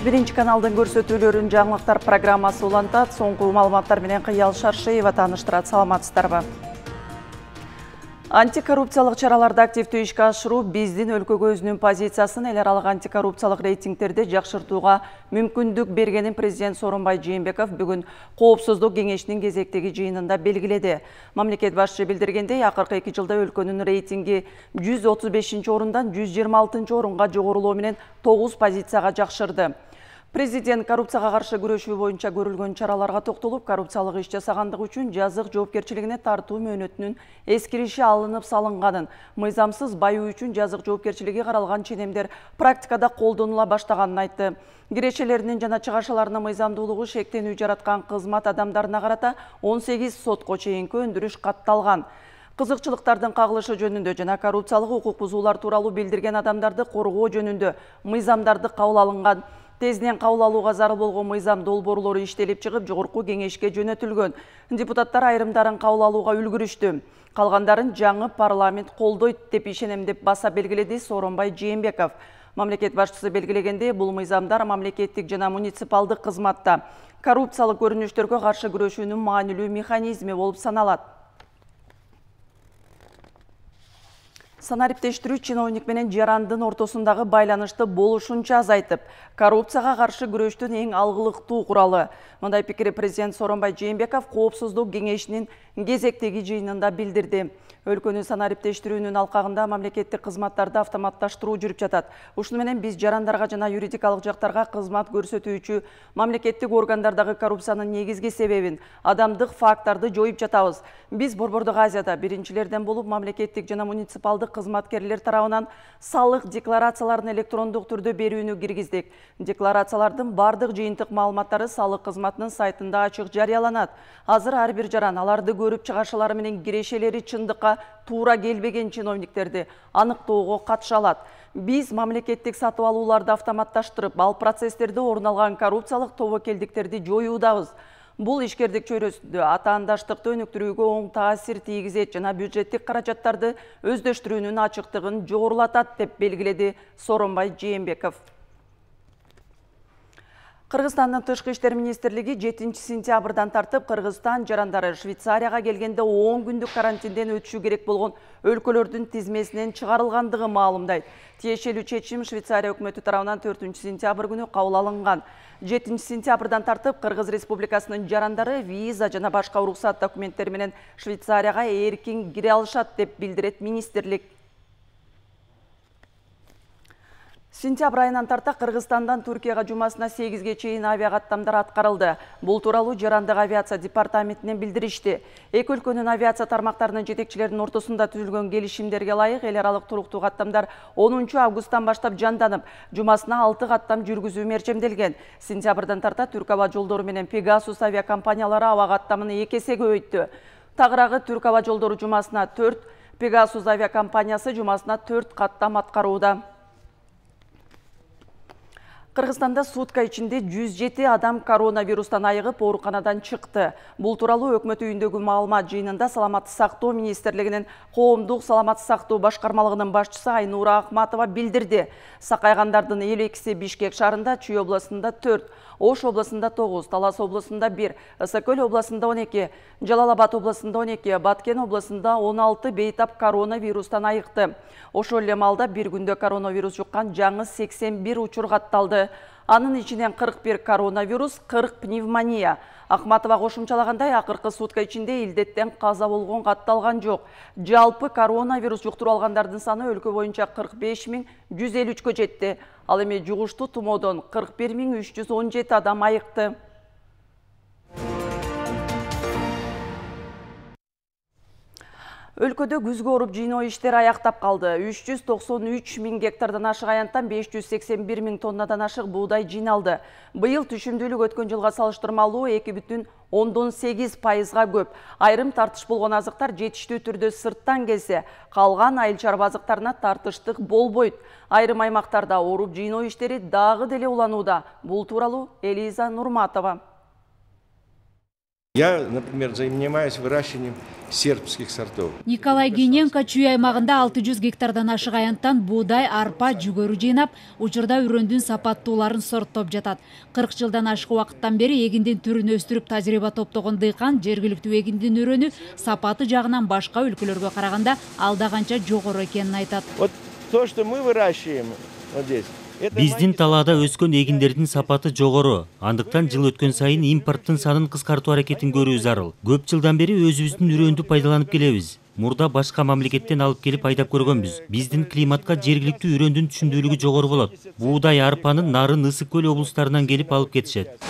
1 каналдын көрсөтүүлөрүн жаңылыктар программасы улантат. Соңку маалыматтар менен Кыял Шаршеева тааныштырат. Саламатсыздарбы? Антикоррупциялык чараларды активдүү ишке ашыруу биздин өлкөгө өзүнүн позициясын эл аралык антикоррупциялык рейтингтерди жакшыртууга мүмкүндүк бергенин президент Сооронбай Жээнбеков бүгүн Коопсуздук кеңешинин кезектеги жыйынында белгиледи. Мамлекет башчысы билдиргендей, акыркы 2 жылда өлкөнүн рейтинги 135-орундан 126-орунга жогорулоо менен 9 позицияга жакшырды. Президент коррупцияга каршы күрөшүү боюнча көрүлгөн чараларга токтолуп, коррупциялык иш жасагандыгы үчүн жазык жоопкерчилигине тартуу мөөнөтүнүн эскириши алынып салынганын, мыйзамсыз баюу үчүн жазык жоопкерчилиги каралган ченемдер практикада колдонула баштаганын айтты. Кирешелеринин жана чыгашаларынын мыйзамдуулугу шектенүү жараткан кызмат адамдарына карата 18 сотко чейинки өндүрүш катталган. Кызыкчылыктардын кагылышы жөнүндө жана коррупциялык укук бузуулар тууралуу билдирген адамдарды коргоо жөнүндө мыйзамдарды кабыл алынган. Тезинен кабыл алууга зарыл болгон мыйзам долбоорлору иштелип чыгып, жогорку кеңешке жөнөтүлгөн. Депутаттар айрымдарын кабыл алууга үлгүрүштү. Калгандарын жаңы парламент колдойт деп ишенем деп баса белгиледи Сооронбай Жээнбеков. Мамлекет башчысы белгилегендей, бул мыйзамдар мамлекеттик жана муниципалдык кызматта коррупциялык көрүнүштөргө каршы күрөшүүнүн маанилүү механизми болуп саналат. Санариптештирүү чиновник менен жарандын ортосундагы байланышты болушунча азайтып, коррупцияга каршы күрөштүн эң алгылыктуу куралы. Мындай пикирди президент Сооронбай Жээнбеков Коопсуздук кеңешинин кезектеги жыйынында билдирди. Өлкөнү санариптештирүүнүн алкагында мамлекеттик кызматтарды автоматташтыруу жүрүп жатат. Ушуну менен биз жарандарга жана юридикалык жактарга кызмат көрсөтүүчү мамлекеттик органдардагы коррупциянын негизги себебин, адамдык факторду жоюп жатабыз. Биз Борбордук Азияда биринчилерден болуп мамлекеттик жана муниципалдык кызматкерлер тарабынан салык декларацияларын электрондук түрдө берүүнү киргиздик. Декларациялардын бардык жыйынтык маалыматтары салык кызматынын сайтында ачык жарыяланат. Азыр ар бир жаран аларды көрүп чыгашалары менен кирешелери чындыкка туура келбеген чиновниктерди аныктоого катыша алат. Биз мамлекеттик сатып алууларды автоматташтырып, ал процесстерде орун алган коррупциялык тобокелдиктерди жоюудабыз. Бул ишкердик чөйрөсүндө атаандаштыкты өнүктүрүүгө оң таасир тийгизет жана бюджеттик каражаттарды өздөштүрүүнүн ачыктыгын жогорулатат деп белгиледи Сооронбай Жээнбеков. Кыргызстандын Тышкы иштер министрлиги 7 сентябрдан тартып Кыргызстан жарандары Швейцарияга келгенде 10 күндүк карантинден өтүшү керек болгон өлкөлөрдүн тизмесинен чыгарылгандыгын маалымдайт. Тиешелүү чечим Швейцария өкмөтү тарабынан 4 сентябрь күнү кабыл алынган. 7 сентябрдан тартып Кыргыз Республикасынын жарандары виза жана башка уруксат документтери менен Швейцарияга эркин кире алышат деп билдирет министрлик. Сентябрь айынан тарта Кыргызстандан Түркияга жумасына 8ге чейин авиакаттамдар аткарылды. Бул тууралуу Жарандык авиация департаментинен билдиришти. Эки өлкөнүн авиация тармактарынын жетекчилеринин ортосунда түзүлгөн келишимдерге ылайык эл аралык туруктуу каттамдар 10 августтан баштап жанданып, жумасына 6 каттам жүргүзүү мерчемделген. Сентябрдан тарта Түрк аба жолдору менен Pegasus авиакомпаниялары аба каттамын 2 эсеге көбөйттү. Тагыраагы Түрк аба жолдору жумасына 4, Pegasus авиакомпаниясы жумасына 4 каттам аткарууда. Кыргызстанда сутка ичинде 107 адам коронавирустан айыгып ооруканадан чыкты. Бул тууралуу өкмөт үйүндөгү маалымат жыйынында Саламаттык сактоо министрлигинин коомдук саламаттык сактоо башкармалыгынын башчысы Айнура Ахматова билдирди. Сакайгандардын 52-си Бишкек шаарында, Чүй областында 4, Ош областында 9, Талас областында 1, Ысык-Көл областында 12, Жалал Абад областында 12, Баткен областында 16 бейтап коронавирустан айыкты. Ошол эле маалда бир күндө коронавирус жуккан жаңы 81 учур катталды. Анын ичинен 41 коронавирус, 40 пневмония. Ахматова кошумчалагандай, акыркы сутка ичинде илдеттен каза болгон катталган жок. Жалпы коронавирус жуктуруп алгандардын саны өлкө боюнча 45.153-кө жетти. Ал эми жугуштуу тумоодон 41.317 адам айыкты. Өлкөдө күзгө оруп жыйноо иштери аяктап калды. 393 000 гектардан ашык аянттан 581 000 тоннадан ашык буудай жыйналды. Быйыл түшүмдүүлүк өткөн жылга салыштырмалуу 2,8%га көп. Айрым тартыш болгон азыктар жетиштүү түрдө сырттан келсе, калган айыл чарба азыктарына тартыштык болбойт. Айрым аймактарда оруп жыйноо иштери дагы деле уланууда. Бул тууралуу Элиза Нурматова. Я, например, занимаюсь выращиванием сербских сортов. Николай Гиненко Чүй аймагында 600 гектардан ашык аянттан буудай, арпа, жүгөрү жыйнап, учурда үрөндүн сапаттууларын сорттоп жатат. 40 жылдан ашык убакыттан бери эгиндин түрүн өстүрүп тажрыйба топтогон дыйкан жергиликтүү эгиндин үрөнү сапаты жагынан башка өлкөлөргө караганда алда канча жогору экенин айтат. Вот то, что мы выращиваем вот здесь. Биздин талаада өскөн эгиндердин сапаты жогору. Андыктан жыл өткөн сайын импорттун санын кыскартуу аракетин көрүү зарыл. Көп жылдан бери өзүбүздүн үрөндү пайдаланып келебиз. Мурда башка мамлекеттен алып келип айдап көргөнбүз. Биздин климатка жергиликтүү үрөндүн түшүндүүлүгү жогору болот. Буудай, арпанын нарын Ысык көл облустарынан келип алып кетишет.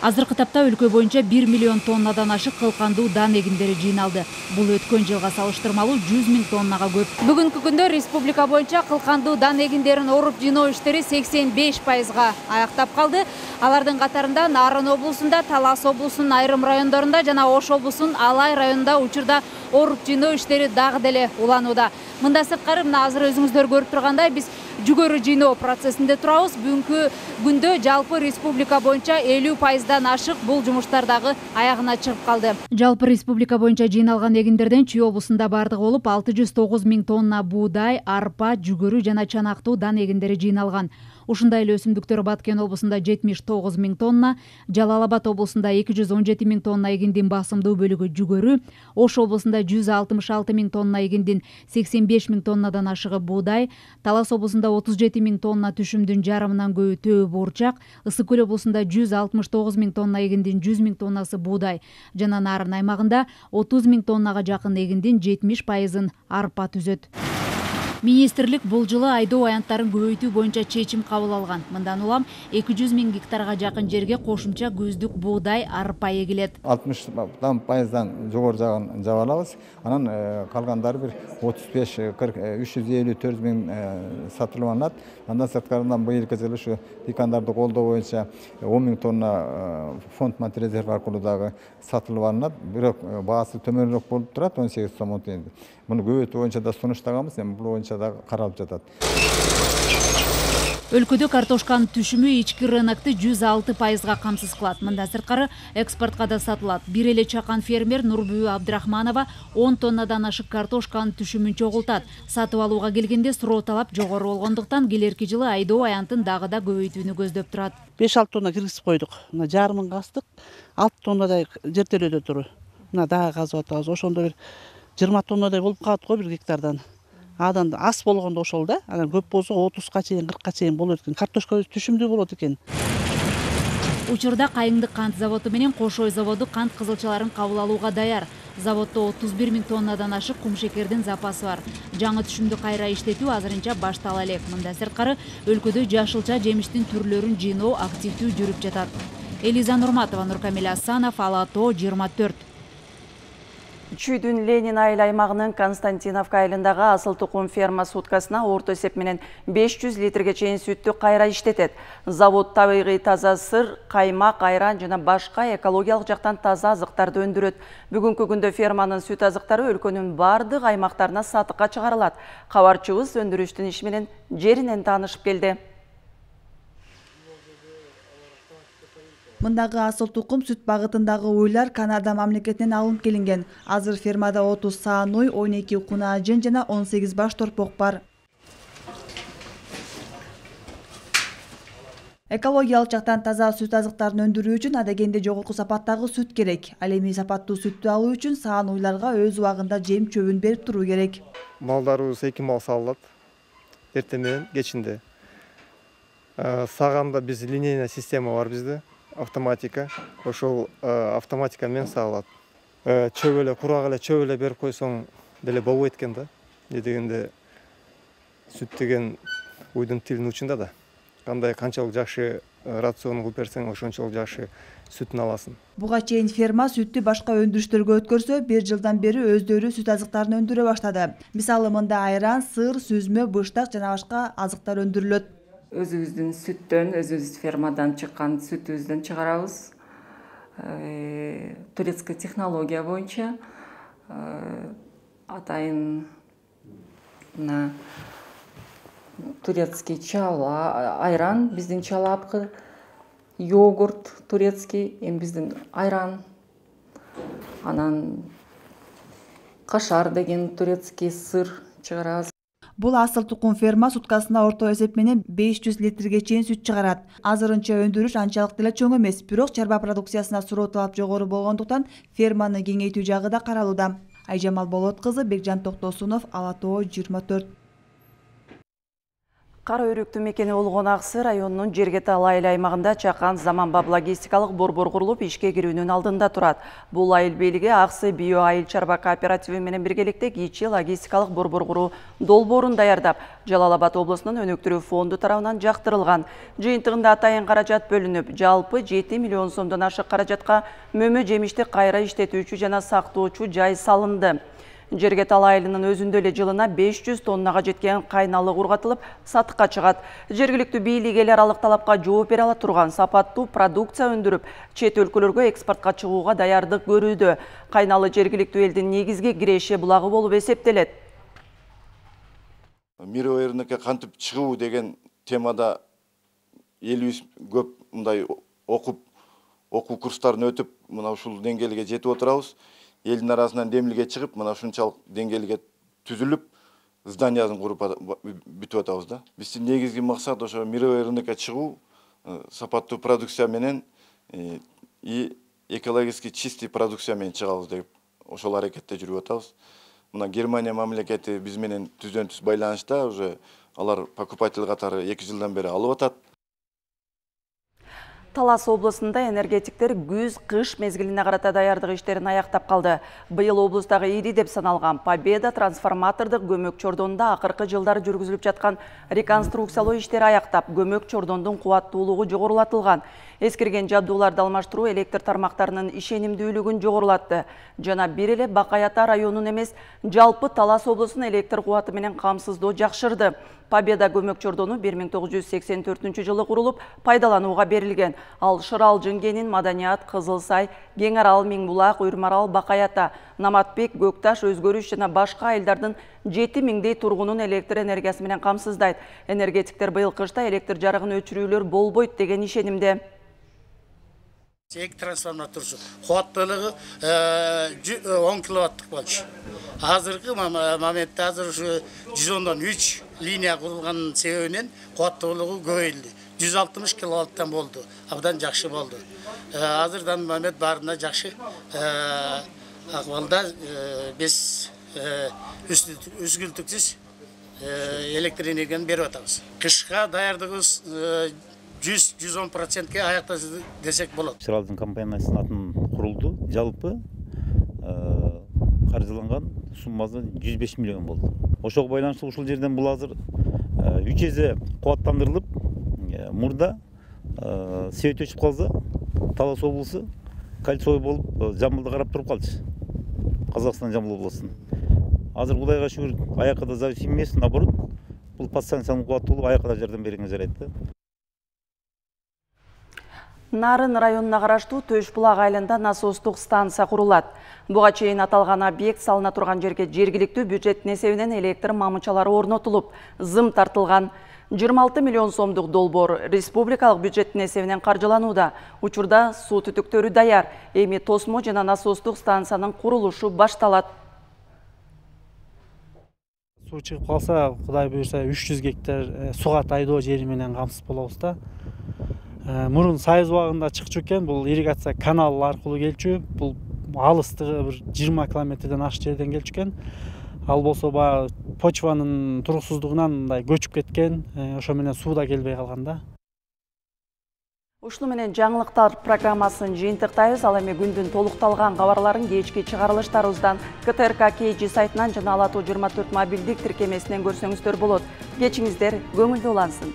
Азыркы тапта өлкө боюнча 1 миллион тоннадан ашык кылкандуу дан эгиндери жыйналды. Бул өткөн жылга салыштырмалуу 100 000 тоннага көп. Бүгүнкү күндө республика боюнча кылкандуу дан эгиндерин оруп жыйноо иштери 85%га аяктап калды. Алардын катарында Нарын облусунда, Талас облусунун айрым райондорунда жана Ош облусунун Алай районунда учурда оруп жыйноо иштери дагы деле уланууда. Мында сырткары мына азыр өзүңүздөр көрүп тургандай биз жүгөрү жыйноо процессинде турабыз. Бүгүнкү күндө жалпы республика боюнча 50%дан ашык бул жумуштар дагы аягына чыгып калды. Жалпы республика боюнча жыйналган эгиндерден Чүй облусунда бардыгы болуп 609 000 тонна буудай, арпа, жүгөрү жана чанактуу дан эгиндери жыйналган. Ушундай эле өсүмдүктөр Баткен облусунда 79 000 тонна, Жалал Абад облусунда 217 000 тонна эгиндин басымдуу бөлүгү жүгөрү, Ош облусунда 166 000 тонна эгиндин 85 000 тоннадан ашыгы буудай, Талас облусунда 37 000 тонна түшүмдүн жарымынан көбү төө буурчак, Ысык көл облусунда 169 000 тонна эгиндин 100 000 тоннасы буудай жана Нарын аймагында 30 000 тоннага жакын эгиндин 70%-ын арпа түзөт. Министрлик бул жылы айдоо аянттарын көбөйтүү боюнча чечим кабыл алган. Мындан улам 200 000 гектарга жакын жерге кошумча көздүк буудай, арпа эгилет. 60% жогору жагын жаба алабыз. Анан калгандары бир 354 000 сатылып алынат. Андан сырткарынан быйылкы жылы ушу дыйкандарды колдоо боюнча 10 000 тонна фонд материал аркылуу дагы сатылып алынат. Бирок баасы төмөнүрөөк болуп турат, 18 сом тиен. Муну көбөйтүү боюнча да сунуштаганбыз, эми бул боюнча да каралып жатат. Өлкөдө картошканын түшүмү ички рынокто 106%га камсыз кылат. Мында сырткары экспортко да сатылат. Бир эле чакан фермер Нурбү Абдрахманова 10 тоннадан ашык картошканын түшүмүн чогултат. Сатып алууга келгенде суроо талап жогору болгондуктан келерки жылы айдоо аянтын дагы да көбөйтүүнү көздөп турат. 5-6 тонна киргизип койдук. Мына жарымын кастык, 6 тоннадай жертөлөдө тур. Мына дагы казып атабыз. Ошондо бир 20 тоннадай болуп калат го бир гектардан. Адан аз болгондо ошол да, анан көп болсо 30га чейин, 40га чейин болот экен. Картошка түшүмдүү болот экен. Учурда Кайыңдык кант заводу менен Кошой заводу кант кызылчаларын кабыл алууга даяр. Заводдо 31 000 тоннадан ашык кумшекердин запасы бар. Жаңы түшүмдү кайра иштетүү азырынча баштала элек. Мында сырткары өлкөдө жашылча жемиштин түрлөрүн жыйноо активдүү жүрүп жатат. Элиза Нурматова, Нуркамил Асанов, Ала Тоо 24. Чүйдүн Ленин айыл аймагынын Константиновка айылындагы асыл тукум ферма суткасына орто эсеп менен 500 литрге чейин сүттү кайра иштетет. Завод табигый таза сыр, каймак, айран жана башка экологиялык жактан таза азыктарды өндүрөт. Бүгүнкү күндө ферманын сүт азыктары өлкөнүн бардык аймактарына сатыкка чыгарылат. Кабарчыбыз өндүрүштүн иши менен жеринен таанышып келди. Мындагы асыл тукум сүт багытындагы уйлар Канада мамлекетинен алынып келинген. Азыр фермада 30 саан уй, 12 куна ажын жана 18 баш торпок бар. Экологиялык жактан таза сүт азыктарын өндүрүү үчүн адегенде жогорку сапаттагы сүт керек. Ал эми сапаттуу сүттү алуу үчүн саан уйларга өз убагында жем чөбүн берип туруу керек. Малдарыбыз 2 мал саалат. Эртең менен кечинде. Саганда биз линейная система бар бизде. Автоматика, ошол автоматика менен саалат. Чөп эле курак эле чөп эле берип койсоң деле болбойт экен да. Дегенде сүт деген уйдун тилинин учунда да. Кандай канчалык жакшы рацион кылып берсең, ошончолук жакшы сүтүн аласың. Буга чейин ферма сүттү башка өндүрүштөргө өткөрсө, 1 жылдан бери өздөрү сүт азыктарын өндүрө баштады. Мисалы мында айран, сыр, сүзмө, быштак жана башка азыктар өндүрүлөт. Өзүбүздүн сүттөн, өзүбүз фермадан чыккан сүтүбүздөн чыгарабыз. Турецкий технология боюнча атайын мына турецкий чала, айран, биздин чалапкы йогурт турецкий, эми биздин айран, анан кашар деген турецкий сыр чыгарабыз. Бул асыл тукум ферма суткасына орто эсеп менен 500 литрге чейин сүт чыгарат. Азырынча өндүрүш анчалык деле чоң эмес, бирок чарба продукциясына суроо талап жогору болгондуктан ферманы кеңейтүү жагы да каралууда. Айжамал Болот кызы, Бекжан Токтосунов, Ала Тоо 24. Кара өрүктүү мекени болгон Аксы районунун Жергетал айыл аймагында чакан заманбап логистикалык борбор курулуп ишке кирүүнүн алдында турат. Бул айыл бийлиги Аксы био айыл чарба кооперативи менен биргеликте кичи логистикалык борбор куруу долбоорун даярдап, Жалал Абад облусунун өнүктүрүү фонду тарабынан жактырылган. Жыйынтыгында атайын каражат бөлүнүп, жалпы 7 миллион сомдон ашык каражатка мөмө жемишти кайра иштетүүчү жана сактоочу жай салынды. Жергетал айылынын өзүндө эле жылына 500 тоннага жеткен кайналы ургатылып, сатыкка чыгат. Жергиликтүү бийлик эл аралык талапка жооп бере ала турган сапаттуу продукция өндүрүп, чет өлкөлөргө экспортко чыгууга даярдык көрүүдө. Кайналы жергиликтүү элдин негизги киреши булагы болуп эсептелет. Мировой рынокко кантип чыгуу деген темада элибиз көп мындай окуу курстарын өтүп, мына ушул деңгээлге жетип отурабыз. Элдин арасынан демилге чыгып, мына ушунчалык деңгээлге түзүлүп, зданиясын куруп бүтүп атабыз да. Биздин негизги максат ошо мировой рынокко чыгуу, сапаттуу продукция менен и экологически чистый продукция менен чыгабыз деп ошол аракетте жүрүп атабыз. Мына Германия мамлекети биз менен түздөн-түз байланышта, уже алар покупатель катары 2 жылдан бери алып атат. Талас облусунда энергетиктер күз-кыш мезгилине карата даярдык иштерин аяктап калды. Быйыл облустагы ири деп саналган Победа трансформатордук көмөк чордонунда акыркы жылдары жүргүзүлүп жаткан реконструкциялоо иштери аяктап, көмөк чордондун кубаттуулугу жогорулатылган. Эскирген жабдууларды алмаштыруу электр тармактарынын ишенимдүүлүгүн жогорулатты. Жана бир эле Бакай-Ата районун эмес, жалпы Талас облусунун электр кубаты менен камсыздоо жакшырды. Победа көмөк чордону 1984 жылы курулуп, пайдаланууга берилген. Ал Шырал, Жынгенин, Маданият, Кызылсай, Кеңарал, Миңбулак, Уйрмарал, Бакай-Ата, Наматбек, Көкташ, Өзгөрүш жана башка айылдардын 7000 тургунун электр энергиясы менен камсыздайт. Энергетиктер быйыл кышта электр жарыгын өчүрүүлөр болбойт деген ишенимде. Эки трансформаторчу кубаттуулугу 10 киловаттык болчу. Азыркы моментте азыр ушу 110дон 3 линия курулган себебинен кубаттуулугу көбөйдү. 160 киловаттан болду. Абдан жакшы болду. Азырдан момент баарына жакшы акыбалда биз үзгүлтүксүз электр энергияны берип атабыз. Кышка даярдыгыбыз 100-110%ке аяктады десек болот. Шыралдын компаниясынын атын курулду. Жалпы каржыланган суммасы 105 миллион болду. Ошого байланыштуу ушул жерден бул азыр 3 эсе кубаттандырылып, мурда себет өчүп калса, Талас облусу кольцевой болуп Жамбылды карап туруп калчу. Казакстан Жамбыл облусунун. Азыр Кудайга шүгүр аякка да зависим эмес, наоборот, бул подстанциянын кубаттуулугу аякка да жардам бергенге жарайт да. Нарын районуна караштуу Төш-Булак айылында насостук станция курулат. Буга чейин аталган объект салына турган жерге жергиликтүү бюджеттин эсебинен электр мамычалары орнотулуп, зым тартылган. 26 миллион сомдук долбоор республикалык бюджеттин эсебинен каржыланууда. Учурда суу түтүктөрү даяр. Эми тосмо жана насостук станциянын курулушу башталат. Суу чыгып калса, Кудай буйрса 300 гектар суга тайдоо жери менен камсыз болобуз да. Мурун Сайыз убагында чыкчу экен, бул ирригация канал аркылуу келчү, бул алыстыгы бир 20 километрден ашык жерден келчү экен. Ал болсо баягы почванын туруксуздугунан мындай көчүп кеткен, ошо менен суу да келбей калган да. Ушуну менен жаңылыктар программасын жыйынтыктайбыз. Ал эми күндүн толукталган кабарларын кечки чыгарылыштарыбыздан КТРК KG сайтынан жана Ала Тоо 24 мобилдик тиркемесинен көрсөңүздөр болот. Кечиңиздер көңүлдүү улансын.